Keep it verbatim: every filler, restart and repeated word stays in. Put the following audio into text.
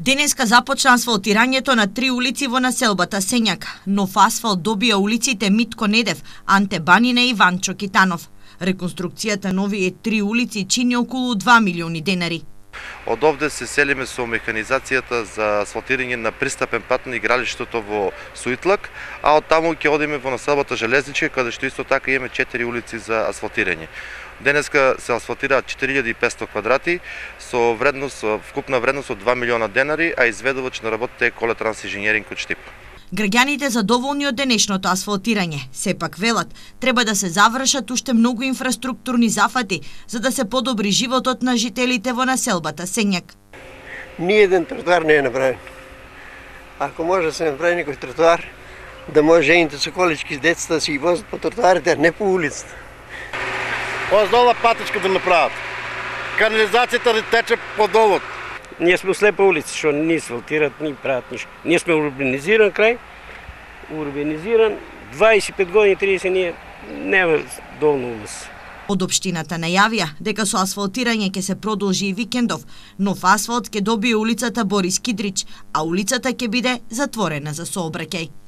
Денеска започна асфалтирањето на три улици во населбата Сењак. Нов асфалт добија улиците Митко Недев, Анте Банина и Ванчо Китанов. Реконструкцијата на овие три улици чини околу два милиони денари. Од овде се селиме со механизацијата за асфалтирање на пристапен пат на игралиштето во Суитлак, а од таму ќе одиме во населбата Железничка, каде што исто така имаме четири улици за асфалтирање. Денеска се асфалтираат четири илјади и петстотини квадрати со вредност, вкупна вредност од два милиона денари, а изведувач на работата е Колетранс инженеринг од Штип. Граѓаните задоволни од денешното асфалтирање, сепак велат, треба да се завршат уште многу инфраструктурни зафати за да се подобри животот на жителите во населбата Сењак. Ни еден тротоар не е направен. Ако може да се направи некој тротоар, да може жените со колички с децата да си ги возат по тротоарите, а не по улицата. Оздола патичка да направат. Канализацијата да тече по долот. Ние сме слепа улица, што ни асфалтират, ни прават ништо. Ние сме урбанизиран крај, урбанизиран, дваесет и пет години, триесет ние нема доволно улица. Од општината најавија дека со асфалтирање ќе се продолжи и викендов. Нов асфалт ќе добие улицата Борис Кидрич, а улицата ќе биде затворена за сообраќај.